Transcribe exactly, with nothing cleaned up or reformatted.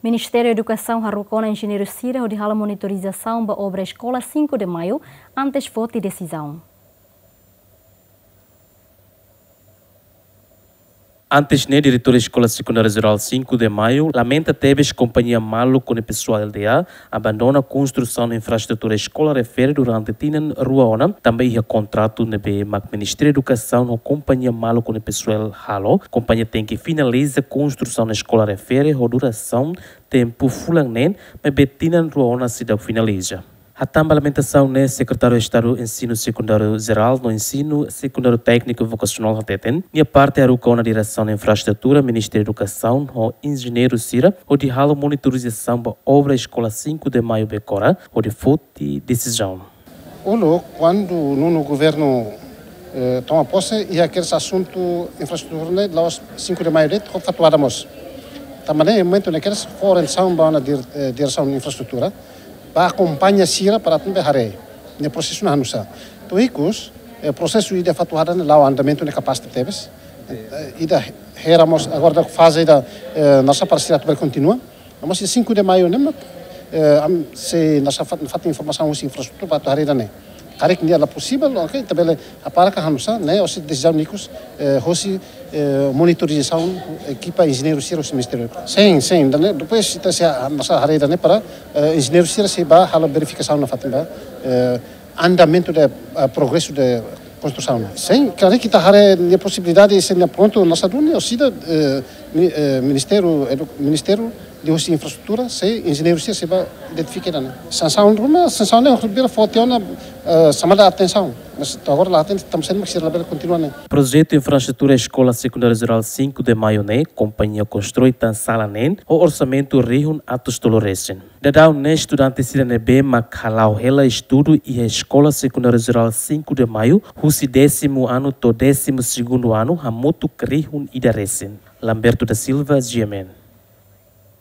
Ministériu Edukasaun haruka ona enjeñeiru sira hodi halo monitorizasaun ba obra Eskola Cinco de Maio antes foti desizaun. Antes ne'e, diretór Eskola Sekundária Jerál Cinco de Maio lamenta tebes kompañia maluk ho nia pesoál L D A abandona konstrusaun infraestrutura eskola refere durante tinan rua ona, tanba iha kontratu ne'ebé mak Ministériu Edukasaun ho kompañia maluk ho nia pesoál halo, kompañia tenke finaliza konstrusaun eskola refere ho durasaun tempu fulan neen, maibé tinan rua ona seidauk finaliza. Hatán ba lamentasaun ne'e, Sekretáriu Estadu Ensinu Sekundáriu Jerál no Ensinu Sekundáriu Tékniku Vokasionál hateten, nia parte haruka ona diresaun infraestrutura, Ministériu Edukasaun ho enjeñeiru sira hodi halo monitorizasaun ba obra Eskola Cinco de Maio Becora hodi foti desizaun. Uluk, kuandu nonu governu, eh, toma pose, iha kedas asuntu infraestrutura ne'e la'ós Cinco de Maio de'it, ho Fatuhada mós. Tanba ne'e momentu ne'e kedas fó orientasaun ba ona dir-, eh, diresaun infraestrutura ba akompaña sira para atu bele haree nia prosesu ne'e hanusá. To'o ikus, eh, prosesu ida Fatuhada ne'e la'o andamentu ne'e kapás tebes. Eh, ida hera mós agora atu faze ida, eh, nasa para sira atu bele kontinua. Mas Cinco de Maio ne'e mak, eh, ami sei nasa fat-, fatin informasaun husi infraestrutura para atu haree ida-ne'e. Karik nia la posivel, oke, ita bele hapara ka hanusá, ne'e hosi desizaun ikus, eh, hosi, eh, monitorizasaun ekipa enjeñeiru sira husi ministériu. Sin, sin, ida-ne'e, eh, depois ita sei nasa haree ida-ne'e para, eh, enjeñeiru sira sei bá halo verifikasaun nafatin ba, eh, andamentu de, eh, progresu de konstrusaun. Sin, karik ita haree nia posibilidade, se nia prontu nasa duni, orsida, eh, mi-, eh, ministériu, edu-, ministériu de husi infraestrutura, sei enjeñeiru sira sei bá identifika ida-ne'e. Sansaun ruma, sansaun ne'e, bira foti ona, eh, xamada atensaun. Mas to'o agora la hatene, tanba sá mak sira labele kontinua ne'e. Projetu infraestrutura Eskola Sekundária Jerál Cinco de Maio ne'e, kompañia konstrui tan sala neen, ho orsamentu rihun atus tolu resin. Daudaun ne'e estudante sira ne'ebé mak hala'o hela estudu iha Eskola Sekundária Jerál Cinco de Maio, husi désimu anu to'o désimu segundu anu, hamutuk rihun ida resin. Lamberto da Silva, G M N.